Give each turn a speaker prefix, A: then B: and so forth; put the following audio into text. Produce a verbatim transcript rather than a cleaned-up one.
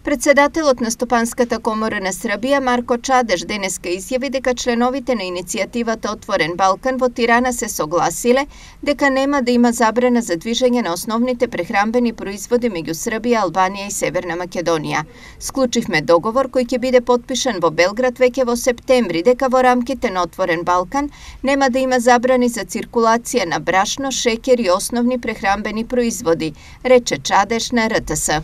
A: Председателот на Стопанската комора на Србија Марко Чадеш денеска изјави дека членовите на иницијативата Отворен Балкан во Тирана се согласиле дека нема да има забрана за движење на основните прехранбени производи меѓу Србија, Албанија и Северна Македонија. Склучивме договор кој ќе биде потпишан во Белград веќе во септември дека во рамките на Отворен Балкан нема да има забрани за циркулација на брашно, шеќер и основни прехранбени производи, рече Чадеш на Р Т С.